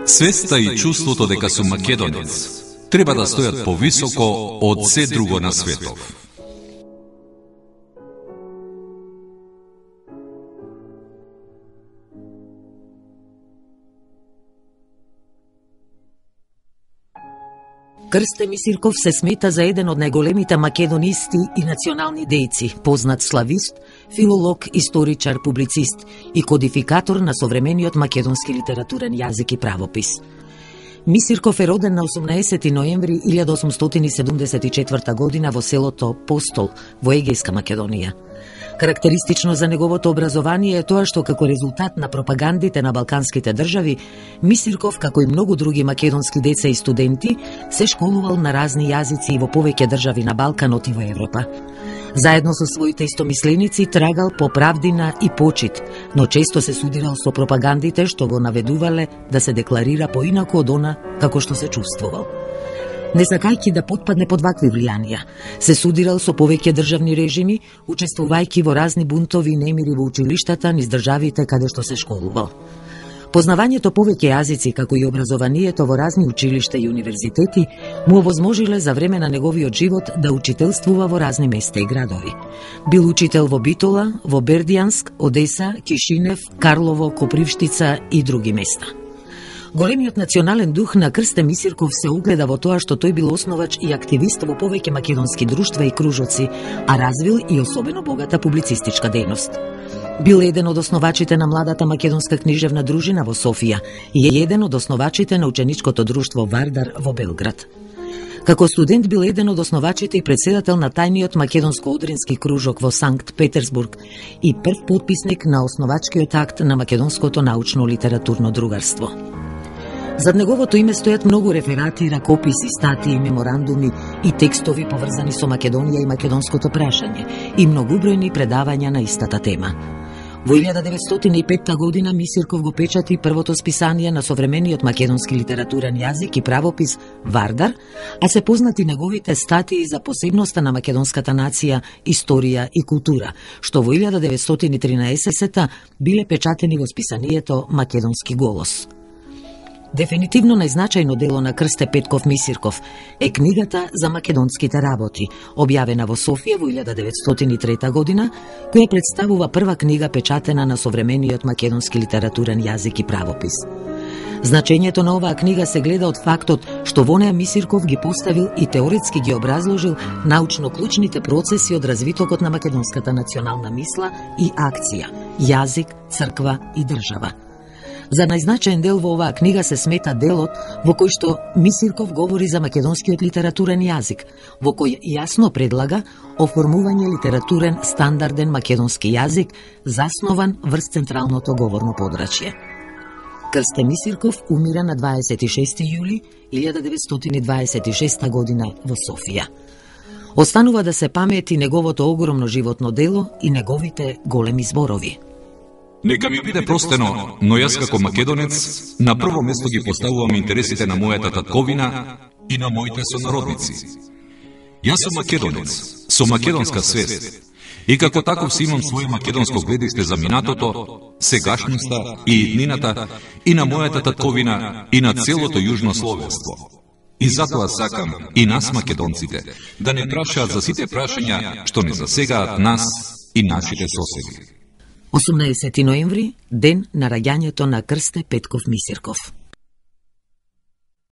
Свеста и чувството дека сум македонец треба да стојат повисоко од се друго на светов. Крсте Мисирков се смета за еден од најголемите македонисти и национални дејци, познат славист, филолог, историчар, публицист и кодификатор на современиот македонски литературен јазик и правопис. Мисирков е роден на 18 ноември 1874 година во селото Постол во Егејска Македонија. Карактеристично за неговото образование е тоа што како резултат на пропагандите на балканските држави, Мисирков, како и многу други македонски деца и студенти, се школувал на разни јазици и во повеќе држави на Балканот и во Европа. Заедно со своите истомисленици трагал по правдина и почит, но често се судирал со пропагандите што го наведувале да се декларира поинаку од она како што се чувствувал. Не сакајќи да потпадне под вакви влијанија, се судирал со повеќе државни режими, учествувајќи во разни бунтови и немири во училиштата низ државите каде што се школувал. Познавањето повеќе јазици, како и образованието во разни училишта и универзитети, му овозможиле за време на неговиот живот да учителствува во разни места и градови. Бил учител во Битола, во Бердијанск, Одеса, Кишинев, Карлово, Копривштица и други места. Големиот национален дух на Крсте Мисирков се огледа во тоа што тој бил основач и активист во повеќе македонски друштва и кружоци, а развил и особено богата публицистичка дејност. Бил еден од основачите на младата македонска книжевна дружина во Софија и е еден од основачите на ученичкото друштво Вардар во Белград. Како студент бил еден од основачите и председател на тајниот македонско-одрински кружок во Санкт Петерсбург и прв потписник на основачкиот акт на македонското научно-литературно другарство. Зад неговото име стојат многу реферати, ракописи, статии, меморандуми и текстови поврзани со Македонија и македонското прашање и многубројни предавања на истата тема. Во 1905 година Мисирков го печати првото списание на современиот македонски литературен јазик и правопис Вардар, а се познати неговите статии за посебноста на македонската нација, историја и култура, што во 1913 биле печатени во списанието Македонски голос. Дефинитивно најзначајно дело на Крсте Петков Мисирков е книгата за македонските работи, објавена во Софија во 1903 година, која представува прва книга печатена на современиот македонски литературен јазик и правопис. Значењето на оваа книга се гледа од фактот што во неа Мисирков ги поставил и теоретски ги образложил научно клучните процеси од развитокот на македонската национална мисла и акција, јазик, црква и држава. За најзначаен дел во оваа книга се смета делот во кој што Мисирков говори за македонскиот литературен јазик, во кој јасно предлага оформување литературен стандарден македонски јазик заснован врз централното говорно подрачје. Крсте Мисирков умира на 26 јули 1926 година во Софија. Останува да се памети неговото огромно животно дело и неговите големи зборови. Нека ми биде простено, но јас како македонец на прво место ги поставувам интересите на мојата татковина и на моите сонародници. Јас сум македонец, со македонска свест, и како таков си имам своје македонско гледиште за минатото, сегашноста и иднината и на мојата татковина и на целото јужно словенство. И затоа сакам и нас македонците да не прашаат за сите прашања што не засегаат нас и нашите соседи. 18 ноември, ден на раѓањето на Крсте Петков Мисирков.